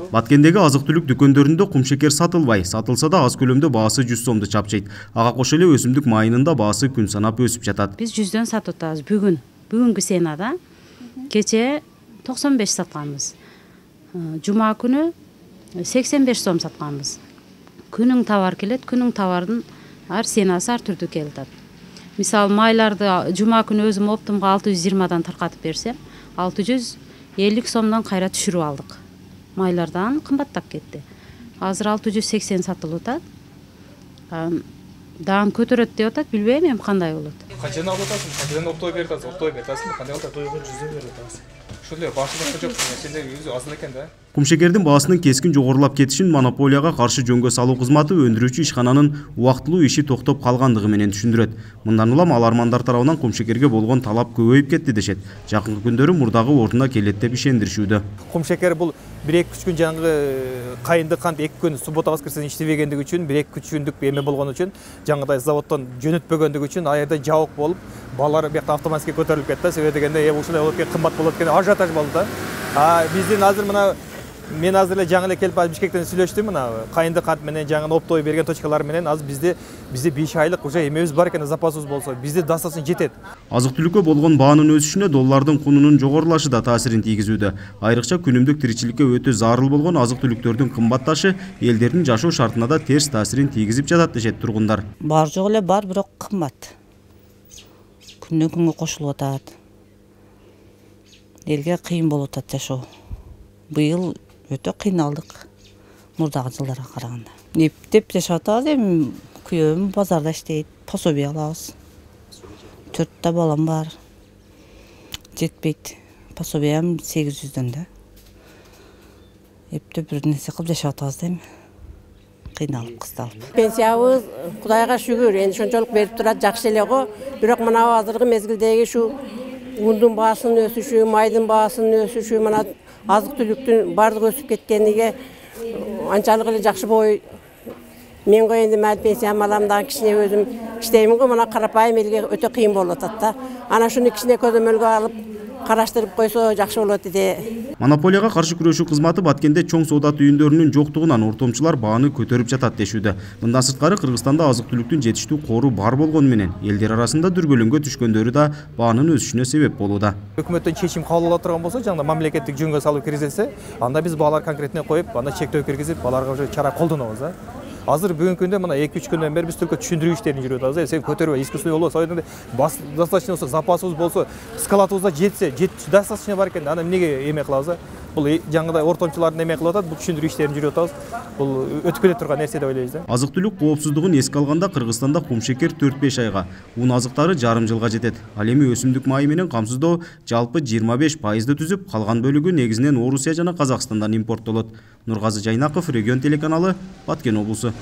Баткендеги азык-түлүк дүкөндөрүндө кумшекер сатылбай, сатылса да аз көлөмдө баасы 100 сомду чапчайт. Ага кошо эле өсүмдүк майынын да баасы күн санап өсүп жатат. Биз 100дөн сатып атабыз бүгүнкү сенада. Кече 95 сатканбыз. Жума күнү 85 сом сатканбыз. Күнүң товар келет, күнүң товардын ар сенасы ар түрдүү келип атат. Мисалы майларды жума күнү өзүм оптумга 620дан таркатып берсем, 650 сомдон кайра түшүрүп алдык. Майлардан кымбаттап кетти. Азыр 680 сатылып атат. Даан көтөрөт деп атат, билбейм эми кандай болот. Качан алып атасың? Качан оптой берип атасың? Оптой берип атасың? Кандай алып атасың? 100 берип атасың. Ошондой башында жок, сенде өзү азыр экен да. Кумшекердин баасынын кескин жогорулап кетишин монополияга каршы жөнгө салуу кызматы өндүрүүчү ишкананын убактылуу иши токтоп калгандыгы менен түшүндүрөт. Мындан улам алармандар тарабынан кумшекерге болгон талап көбөйүп кетти дешет. Жакынкы күндөрү мурдагы ордуна келет деп ишендиришүүдө. Кумшекер бул 1-2 күн жаңгы кайынды кант 2 күн суббота воскресенье иштебегендиги үчүн 1-2 күндүк эме болгон үчүн жаңгыдай заводдон жөнөтпөгөндүгү үчүн аябай жабык болуп, балдар биякта автоматически көтөрүлүп кетти. Себеби дегенде ушундай болуп кеткен, кымбат болот экен, ажиотаж болду да. Биздин азыр мына мен азыр эле жаңы эле келип Бишкектен сүйлөштүм, мына кайынды кант менен жаңы оптой берген точкалар менен азыр бизде 5 айлык уже эмебиз бар экен, запасыбыз болсо, бизде достаточно жетет. Азык-түлүккө болгон баанын өсүшүнө доллардын кунунун жогорулашы да таасирин тийгизүүдө. Айрыкча күнүмдүк тиричиликке өтө зарыл болгон азык-түлүктөрдүн кымбатташы элдердин жашоо шартына да терс таасирин тийгизип жатат дешет тургундар. Бар жок эле бар, бирок кымбат. Күндөн күнгө кошулуп атат. Элге кыйын болуп атат жашоо. Быйыл өтө кыйналдык мурдагы жылдарга караганда. Эптеп жашап атабыз, эми күйөөм базарда иштейт, пособие алабыз. 4 балам бар. Жетпейт. Пособиям 800дөн да. Эптеп бир нерсе кылып жашап атабыз да эми. Кыйналып, кысталып. Пенсиябыз Кудайга шүгүр, энди ошончолук берип турат, жакшы эле го. Бирок мына азыркы мезгилдеги шу ундун баасынын өсүшү, майдын баасынын өсүшү, мына азык-түлүктүн бардыгы өсүп кеткениге анчалык эле жакшы болбой. Мен го энди мал пенсиям алам да, кичине өзүм иштеймин го, мына карапайым элге өтө кыйын болуп атат да. Ана шуну кичине көзөмөлгө алып, караштырып койсо жакшы болот эди. Монополияга каршы күрөшүү кызматы Баткенде чоң соода түйүндөрүнүн жоктугунан ортомчулар бааны көтөрүп жатат дешүүдө. Мындан сырткары Кыргызстанда азык-түлүктүн жетиштүү кору бар болгону менен элдер арасында дүрбөлөңгө түшкөндөрү да баанын өсүшүнө себеп болууда. Өкмөттөн чечим кабыл ала турган болсо, жаңы мамлекеттик жөнгө салып киргизилсе, анда биз баалар конкретне коюп, анда чектөө киргизип, аларга уже чара колдонобуз да. Азыр бүгүнкү күндө мына 2-3 күндөн бери биз только түшүндүрүү иштерин жүрүп атабыз. Сен көтөрбөй, искусственный болбосо, достаточно болсо, запасыбыз болсо, складыбызда жетсе, достаточно бар экен. Аны эмнеге эме кылабыз? Бул жаңыдай ортомчулардын эме кылып атат, бул түшүндүрүү иштерин жүрүп атабыз. Бул өтүп келе турган нерсе деп ойлойбуз да. Азык-түлүк коопсуздугун эске алганда Кыргызстанда кумшекер 4-5 айга, ун азыктары жарым жылга жетет. Ал эми өсүмдүк майы менен камсыздоо жалпы 25%ды түзүп, калган бөлүгү негизинен Орусия жана Казакстандан импорттолот. Нургазы Жайнаков, Регион телеканалы, Баткен облусу.